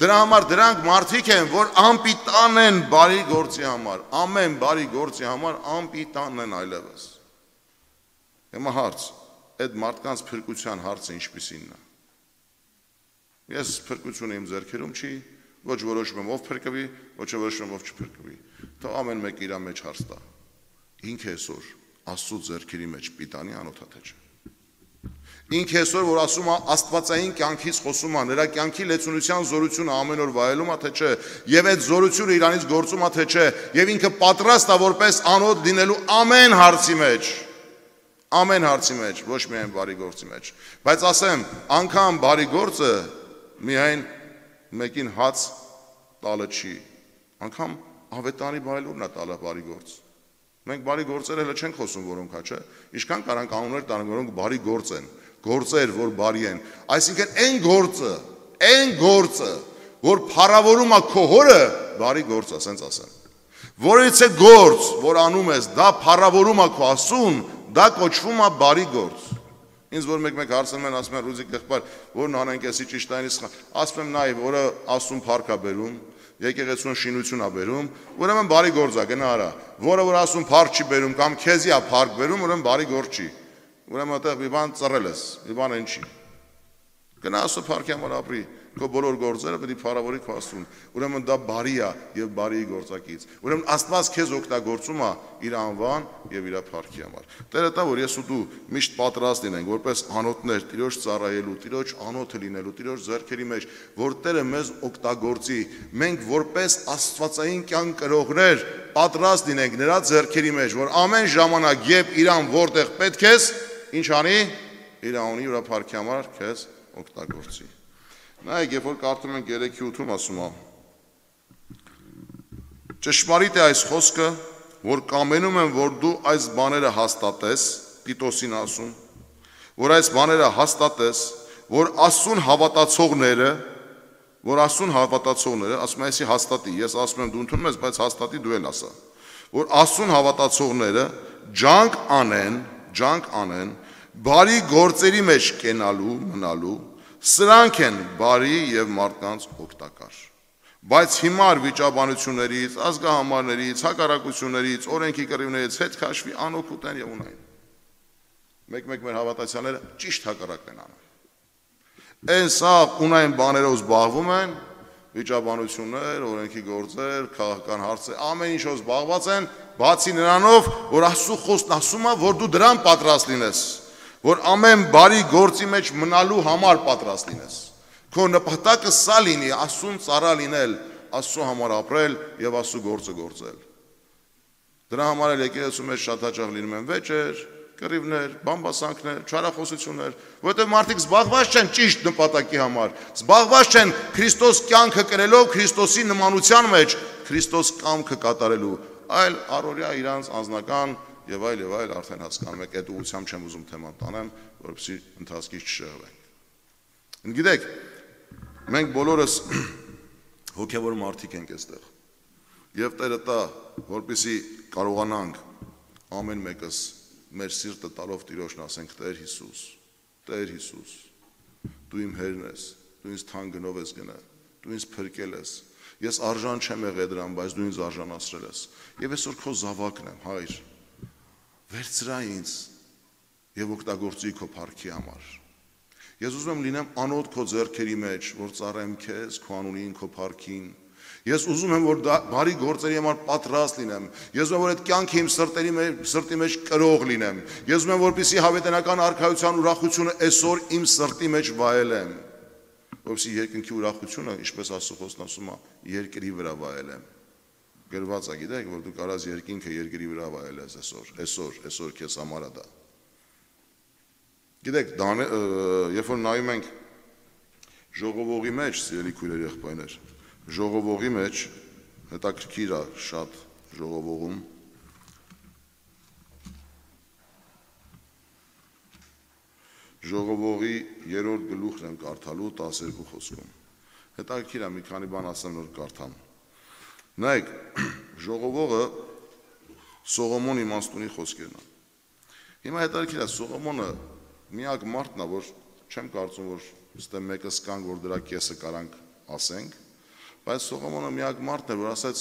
Դրա համար դրանք մարդիկ են, որ անպիտան են բարի գործի համար, ամեն բարի գործի համար անպիտան են այլևս։ Հիմա հարց, այդ մարդկանց փրկության հարցը ինչպիսին է։ Ես փրկությունը իմ ձեռքերում չի, ոչ որոշում եմ ով փրկվի, ոչ որոշում եմ ով չփրկվի։ Թող ամեն մեկը իր մեջ հարց տա։ Ինքը այսօր Աստծո ձեռքերի մեջ պիտանի անոթա թե չէ։ Ինքը այսօր որ ասում է աստվածային կյանքից խոսում է, նրա կյանքի լեցունության զորությունը ամեն օր վայելում է թե չէ, եւ այդ զորությունը իրանից գործում է թե չէ, եւ ինքը պատրաստ է որպես անոթ լինելու ամեն հարցի մեջ, ոչ միայն բարի գործի մեջ։ Բայց ասեմ, անգամ բարի գործը միայն մեկին հաց տալը չի, անգամ ավետարանի բայլուրն է տալը բարի գործ։ Մենք բարի գործեր հələ չենք խոսում, որոնք հա չէ, ինչքան կարանք անուններ տանենք, որոնք բարի գործ են, գործեր, որ բարի են, այսինքն այն գործը, որ փառավորում է քո հորը, բարի գործ է, ասենց ասեմ։ Որից է գործ, որ անում ես, դա փառավորում է քո Աստծուն, դա կոչվում է բարի գործ։ Ինձ որ մեկ հարցնում են, ասում են Ռուզիկ եղբայր, որն անենք էսի ճիշտ այնից, ասում եմ նայ, որը Աստծուն փառք է բերում, եկեղեցուն շինություն է բերում, ուրեմն բարի գործ է, գնա արա, որը որ ասում փառք չի բերում կամ քեզի է փառք բերում, ուրեմն բարի գործ չի։ Ուրեմն այդտեղ մի բան ծռել ես, մի բան այն չի։ Գնա Աստծո փառքի համար ապրի, քո բոլոր գործերը պետք է փառավորի քո Աստծուն։ Ուրեմն դա բարի է եւ բարի գործակից։ Ուրեմն Աստված քեզ օգտագործում է իր անվան եւ իր փառքի համար։ Տերը տա որ ես ու դու միշտ պատրաստ լինենք որպես անոթներ Տիրոջ ծառայելու, Տիրոջ անոթը լինելու, Տիրոջ ձեռքերի մեջ, որ Տերը մեզ օգտագործի։ Մենք որպես աստվածային կյանք կրողներ պատրաստ լինենք նրա ձեռքերի մեջ, որ ամեն ժամանակ երբ իրան որտեղ պետք է, ինչ անի, իր անունի ու փառքի համար քեզ օգտագործի։ Նայեք, երբ որ կարդում ենք 3:8-ում ասում է. Ճշմարիտ է այս խոսքը, որ կամենում եմ, որ դու այս բաները հաստատես, Տիտոսին ասում, որ այս բաները հաստատես, որ Աստծուն հավատացողները, ասում է, այսի հաստատի, ես ասում եմ դու ընդունում ես, բայց հաստատի դու էլ ասա, որ Աստծուն հավատացողները ջանք անեն, բարի գործերի մեջ կենալու, մնալու, սրանք են բարի եւ մարդկանց օգտակար։ Բայց հիմար վիճաբանություններից, ազգահամարներից, հակառակություններից, օրենքի կռիվներից հետ քաշվի անօգուտ են եւ ունայն։ Մեկ-մեկ մեր հավատացյալները ճիշտ հակառակն են անում։ Այն սա ունայն բաներով զբաղվում են, վիճաբանություններ, օրենքի գործեր, քաղաքական հարցեր, ամեն ինչով զբաղված են, բացի նրանով, որ Աստծո խոսքն ասում է, որ դու դրան պատրաստ լինես, որ ամեն բարի գործի մեջ մնալու համար պատրաստ լինես։ Քո նպատակը սա լինի, Աստծուն ծառա լինել, Աստծո համար ապրել եւ Աստծո գործը գործել։ Դրա համար էլ եկեղեցու մեջ շատ հաճախ լինում են վեճեր, կռիվներ, բամբասանքներ, չարախոսություններ, որովհետև մարդիկ զբաղված չեն ճիշտ նպատակի համար, զբաղված չեն Քրիստոս կյանքը կրելով Քրիստոսի նմանության մեջ, Քրիստոս կամքը կատարելու, այլ առօրյա իրանց անձնական եւ այլ արդեն հասկանում եք, այդ ուղղությամբ չեմ ուզում թեման տանեմ, որովհետեւ ընթացքից չշեղվենք։ Գիտեք, մենք բոլորս հոգևոր մարդիկ ենք այստեղ։ Եվ Տերը տա, որպեսզի կարողանանք ամեն մեկս մեր սիրտը տալով Տիրոջն ասենք Տեր Հիսուս, դու իմ հերն ես, դու ինձ թանկ գնով ես գնել, դու ինձ փրկել ես, ես արժան չեմ եղել դրան, բայց դու ինձ արժանացրել ես, եւ այսօր քո զավակն եմ, Հայր, վերցրա ինձ եւ օգտագործի քո փառքի համար։ Ես ուզում եմ լինեմ անոտ քո ձեռքերի մեջ, որ ծառայեմ քեզ, քո անունին, քո փառքին։ Ես ուզում եմ, որ բարի գործերի համար պատրաստ լինեմ։ Ես ուզում եմ, որ այդ կյանքը իմ սրտի մեջ կրող լինեմ։ Ես ուզում եմ, որպեսզի հավիտենական արքայության ուրախությունը այսօր իմ սրտի մեջ վայելեմ։ Որպեսզի երկնքի ուրախությունը, ինչպես Աստծո խոսքն ասում է, երկրի վրա վայելեմ։ Գրված է, գիտեք, որ դու կարաս երկինքը երկրի վրա վայելես այսօր քեզ համար է դա։ Գիտեք, երբ որ նայում ենք ժողովողի մեջ, սիրելի քույրեր, եղբայրներ, ժողովողի մեջ հետաքրքիր է շատ ժողովողում ժողովողի 3-րդ գլուխն եմ կարդալու 12 խոսքում հետաքրքիր է մի քանի բան ասեմ նոր կարդամ նայեք ժողովողը Սողոմոն իմաստունի խոսքերն են հիմա հետաքրքիր է Սողոմոնը միակ մարդն է որ չեմ կարծում որ ստե մեկը սկանք որ դրա կեսը կարանք ասենք Բայց Սողոմոնը միակ մարդն էր, որ ասաց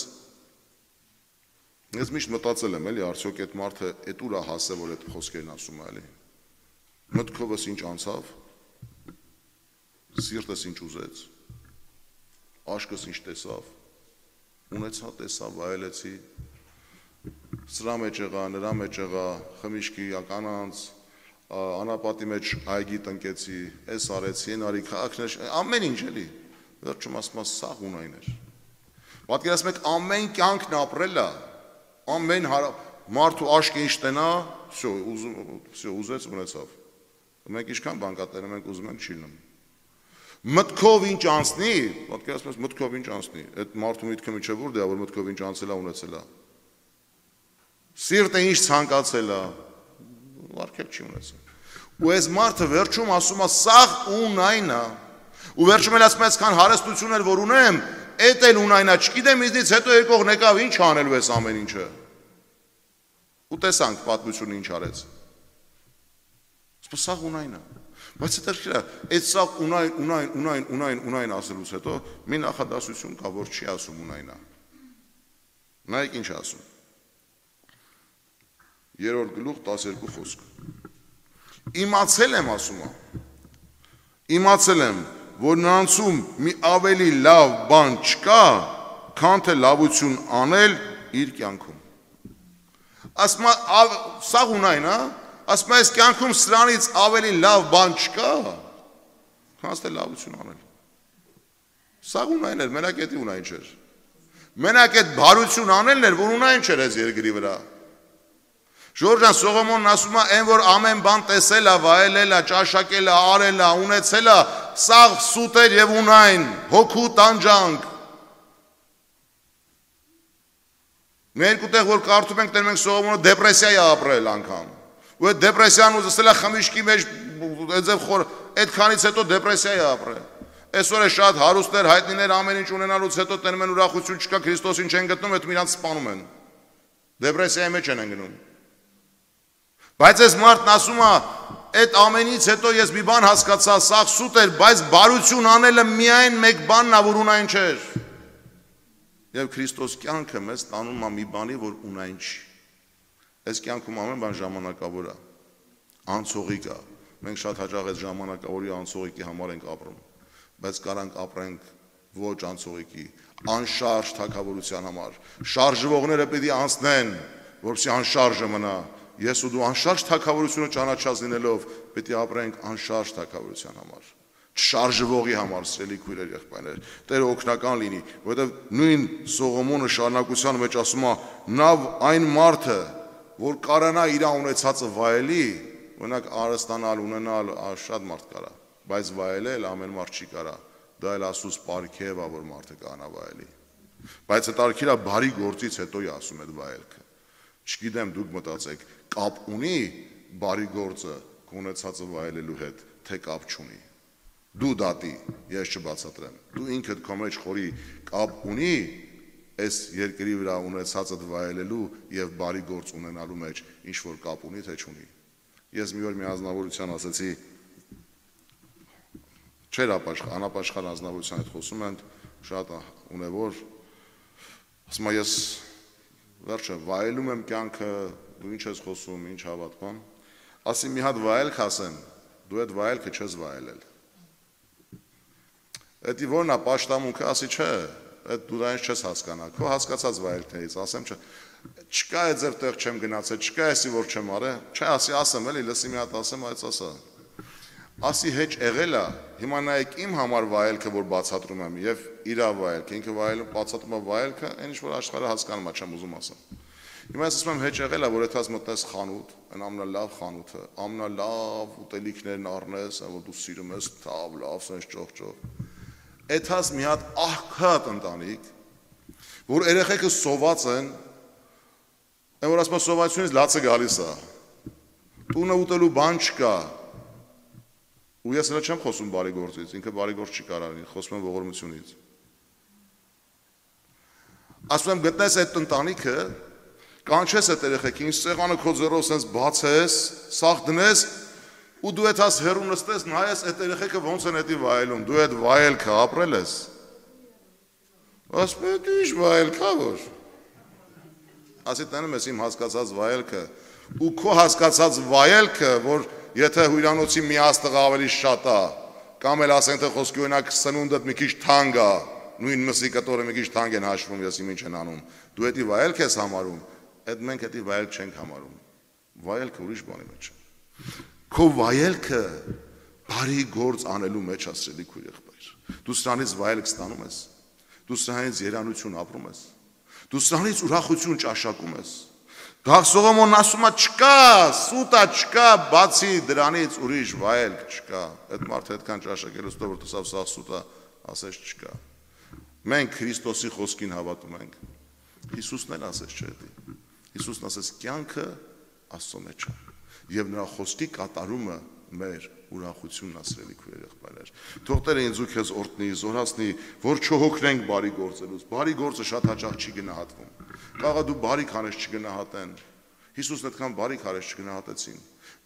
ես միշտ մտածել եմ, էլի, արդյոք այդ մարդը այդ ուր է հասել, որ այդ խոսքերն ասում է, էլի։ Մտքովս ինչ անցավ, սիրտս ինչ ուզեց, աշկս ինչ տեսավ, ունեցա, տեսավ, վայելեցի, սրա մեջ եղա, նրա մեջ եղա, խմիչքի կանանց, անապատի մեջ այգի տնկեցի, այս արեցի, այն արի, քաղաքներ, ամեն ինչ էլի։ Վերջում ասում սաղ ունայն էր։ Պատկերացնում եք ամեն կյանքն ապրել է, ամեն մարդու աշկը ինչ տնա, ուզեց ունեցավ։ Մենք ինչքան բանկատներ ենք ուզում ենք չի լինում։ Մտքով ինչ անցնի, պատկերացնում եք մտքով ինչ անցնի, այդ մարդու միտքը միջև որ դա որ մտքով ինչ անցել է ունեցել է։ Սիրտը ինչ ցանկացել է, վարկել չի ունեցել։ Ու այս մարդը վերջում ասում է սաղ ունայն է Ու վերջում էլ ասում ես քան հարստություն էր որ ունեմ, էդ էլ ունայնա, չգիտեմ ինձնից հետո եկող նեկավ ինչ անելու ես ամեն ինչը։ Ու տեսանք պատմությունը ինչ արեց։ Սա ունայնա։ Բայց հետաքրքիր է, այդ սա ունայն ասելուց հետո մի նախադասություն կա, որ չի ասում ունայնա։ Նայեք ինչ ասում։ 3-րդ գլուխ 12 խոսք։ Իմացել եմ ասում է։ Իմացել եմ որ նրանցում մի ավելի լավ բան չկա, քան թե լավություն անել իր կյանքում։ Ասում է, սա ունայն, ասում է, այս կյանքում սրանից ավելի լավ բան չկա, քան թե լավություն անել։ Սա ունայն էր, մենակ էդի ունայն չէր։ Մենակ այդ բարություն անելն էր, որ ունայն չէր այս երկրի վրա։ Ժորժան Սողոմոնն ասում է, այն որ ամեն բան տեսել է, վայելել է, ճաշակել է, արել է, ունեցել է, սաղ սուտ էր եւ ունայն, հոգու տանջանք։ Մեր երկու տեղ որ կարդում ենք, տենում ենք Սողոմոնը դեպրեսիա է ապրել անգամ։ Ու այդ դեպրեսիան ուզել է խմիչքի մեջ, այդքանից հետո դեպրեսիա է ապրել։ Այսօր է շատ հարուստներ, հայտնիներ ամեն ինչ ունենալուց հետո տենում են ուրախություն չկա, Քրիստոսին չեն գտնում, այդ իրանց սպանում են։ Դեպրեսիայի մեջ են գնում։ Բայց այս մարդն ասում է, Այդ ամենից հետո ես մի բան հասկացա, սա սուտ էր, բայց բարություն անելը միայն մեկ բանն է, որ ունայն չէր։ Եվ Քրիստոս կյանքը մեզ տանում է մի բանի, որ ունայն չի։ Այս կյանքում ամեն բան ժամանակավոր է, անցողիկ է։ Մենք շատ հաճախ այս ժամանակավորի անցողիկի համար ենք ապրում, բայց կարանք ապրենք ոչ անցողիկի, անշարժ թագավորության համար։ Շարժվողները պիտի անցնեն, որպեսզի անշարժը մնա։ Ես ու դու անշարժ թագավորությունը ճանաչած լինելով պիտի ապրենք անշարժ թագավորության համար, չշարժվողի համար, սիրելի քույրեր, եղբայրներ։ Տերը օգնական լինի, որովհետև նույն Սողոմոնը շարունակության մեջ ասում է, նա այն մարդը, որ կարանա իր ունեցածը վայելի, օրինակ արստանալ, ունենալ, շատ մարդ կարա, բայց վայելել ամեն մարդ չի կարա։ Դա էլ Աստծուց պարգև է, որ մարդը կանա վայելի։ Բայց հետարքիրա բարի գործից հետո է ասում այդ վայելքը։ Չգիտեմ, դուք մտածեք, կապ ունի բարի գործը կունեցածը վայելելու հետ, թե կապ չունի։ Դու դատի, ես չբացատրեմ։ Դու ինքդ քո մեջ խորի կապ ունի այս երկրի վրա ունեցածը վայելելու եւ բարի գործ ունենալու մեջ, ինչ որ կապ ունի, թե չունի։ Ես մի օր մի ազնվորության ասեցի, չէր անապաշխար ազնվորության հետ խոսում են, շատ ունևոր, ասում եմ ես վերջը վայելում եմ կյանքը, դու ինչ ես խոսում, ինչ հավատում, ասի մի հատ վայելք ասեմ, դու այդ վայելքը չես վայելել։ Էդի որն է պաշտամունքը, ասի չէ, այդ դու դա ինձ չես հասկանա, քո հասկացած վայելքներից, ասեմ չէ, չկա այդ ձեր տեղ չեմ գնացել, չկա էսի որ չեմ արել, չէ, ասի ասեմ էլի, լսի մի հատ ասեմ, այս ասա։ Ասի հեչ եղել է, հիմա նայեք իմ համար վայելքը, որ բացատրում եմ, եւ իրա վայելքը, ինքը վայելում բացատրում է վայելքը, այն ինչ որ աշխարհը հասկանում է, չեմ ուզում ասեմ։ Հիմա ես ասում եմ հեչ եղել է, որ այդպես մտնես խանութ, այն ամենալավ խանութը, ամենալավ ուտելիքներն առնես, որ դու սիրում ես, թավ, լավ, սենց ճոխ։ Այդպես մի հատ աղքատ ընտանիք, որ երեխեքը սոված են, այն որ ասում սովացությունից լացը գալիս է։ Տունը ուտելու բան չկա։ Ու ես նա չեմ խոսում բարի գործից, ինքը բարի գործ չի կարող լինի, խոսում եմ ողորմությունից։ Ասում եմ գտնես այդ ընտանիքը, կանչես այդ երեխեքին, սեղանը քո ձեռով սենց բացես, սաղ դնես, ու դու այդ հաս հեռու նստես, նայես այդ երեխեքը ոնց են էդի վայելում, դու այդ վայելքը ապրել ես։ Ասում եմ ինչ վայելքա որ։ Ասի տանում ես իմ հասկացած վայելքը, ու քո հասկացած վայելքը, որ եթե հյուրանոցի մի աստղ ավելի շատ է, կամ էլ ասեն թե խոսքի օրինակ սնունդդ մի քիչ թանկ է, նույն մսի կտորը մի քիչ թանկ են հաշվում, ես ինչ են անում, դու էդի վայելք ես համարում, այդ մենք էդի վայելք չենք համարում, վայելքը ուրիշ բանի մեջ է։ Քո վայելքը բարի գործ անելու մեջ է, սիրելի քույր եղբայր։ Դու սրանից վայելք ստանում ես, դու սրանից երանություն ապրում ես, դու սրանից ուրախություն ճաշակում ես։ Գաղ Սողոմոնն ասում է չկա, սուտա չկա, բացի դրանից ուրիշ վայելք չկա։ Այդ մարդը այդքան ճաշակելուց հետո որ տեսավ սա սուտա, ասես չկա։ Մենք Քրիստոսի խոսքին հավատում ենք։ Հիսուսն էլ ասեց չէ՞ դի։ Հիսուսն ասեց կյանքը Աստծո մեջ է։ Եվ նրա խոսքի կատարումը մեր ուրախությունն է, սիրելի քույրեր եղբայրներ։ Թող Տերը ինձ ու քեզ օրհնի, զորացնի, որ չհոգնենք բարի գործելուց։ Բարի գործը շատ հաճախ չի գնահատվում։ Կարող է դու բարի քարես չգնահատեն։ Հիսուսն այդքան բարի քարես չգնահատեցին։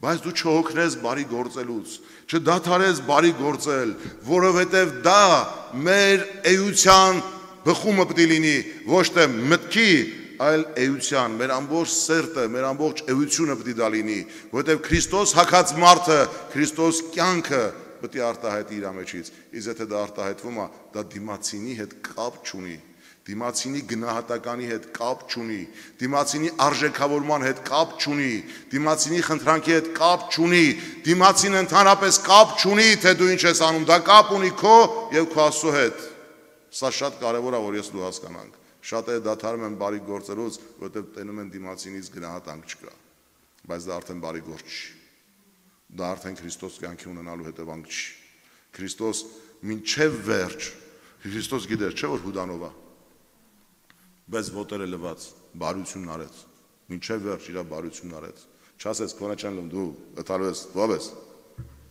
Բայց դու չհոգնես բարի գործելուց, չդադարես բարի գործել, որովհետև դա մեր էության բխումը պետք է լինի, ոչ թե մտքի, այլ էության, մեր ամբողջ սերտը, մեր ամբողջ էությունը պետք է դա լինի, որովհետև Քրիստոս հագած մարդը, Քրիստոս կյանքը պետք է արտահայտի իր մեջից։ Իսկ եթե դա արտահայտվում է, դա դիմացինի հետ կապ չունի, դիմացինի գնահատականի հետ կապ չունի, դիմացինի արժեքավորման հետ կապ չունի, դիմացինի խնդրանքի հետ կապ չունի, դիմացին ընդհանրապես կապ չունի, թե դու ինչ ես անում, դա կապ ունի քո եւ քո Աստծո հետ։ Սա շատ կարևոր է, որ ես դու հասկանանք։ Շատերը դադարում են բարի գործելուց, որովհետև տենում են դիմացինից գնահատանք չկա, բայց դա արդեն բարի գործ չի։ Դա արդեն Քրիստոս կյանքի ունենալու հետևանք չի։ Քրիստոս մինչև վերջ, Քրիստոս գիտեր, չէ՞ որ հուդանով է, բայց ոտերը լված, բարությունն արեց, մինչև վերջ իր բարությունն արեց։ Չասես քոնը չեն լում, դու ըթալու ես, ով ես։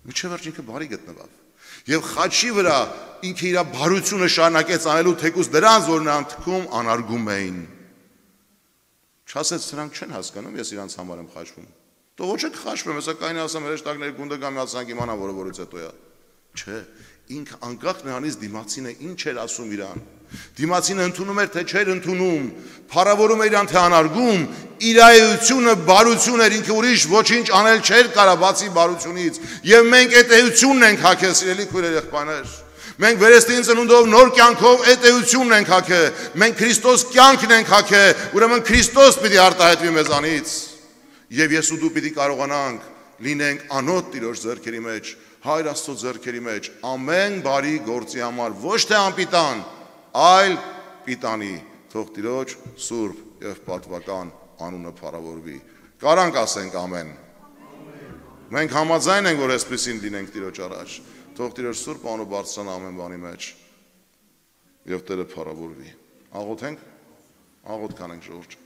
Մինչև վերջ ինքը բարի գտնվավ։ Եվ խաչի վրա ինքը իր բարությունը շարունակեց անելու, թեկուզ դրանց որ նրան թքում անարգում էին։ Չասեց սրանք չեն հասկանում, ես իրանց համար եմ խաչվում։ Դու ոչ եք խաշվում, հեսա կային ասեմ հրեշտակների գունդը կամ միացանք իմանա, որը որից հետո է։ Չէ, ինքը անկախ նրանից դիմացինը ինչ էր ասում իրան։ Դիմացինը ընդունում էր, թե չէր ընդունում, փառավորում էր իրան, թե անարգում, իր էությունը բարություն էր, ինքը ուրիշ ոչինչ անել չէր կարա բացի բարությունից։ Եվ մենք այդ էությունն ենք հագել, սիրելի քույրեր, եղբայրներ։ Մենք վերստին ծնունդով նոր կյանքով այդ էությունն ենք հագել։ Մենք Քրիստոս կյանքն ենք հագել, ուրեմն Քրիստոս պիտի արտահայտվի մեզանից։ Եվ ես ու դու պիտի կարողանանք լինենք անոտ Տիրոջ ձեռքերի մեջ, Հայր Աստծո ձեռքերի մեջ, ամեն բարի գործի համար, ոչ թե անպիտան, այլ պիտանի, թող Տիրոջ սուրբ եւ պատվական անունը փառավորվի։ Կարանք ասենք ամեն։ Մենք համաձայն ենք, որ այսպեսին լինենք Տիրոջ առաջ, թող Տիրոջ սուրբ անունը բարձրանա ամեն բանի մեջ եւ Տերը փառավորվի։ Աղոթենք, աղոթ կանենք ժողովուրդ։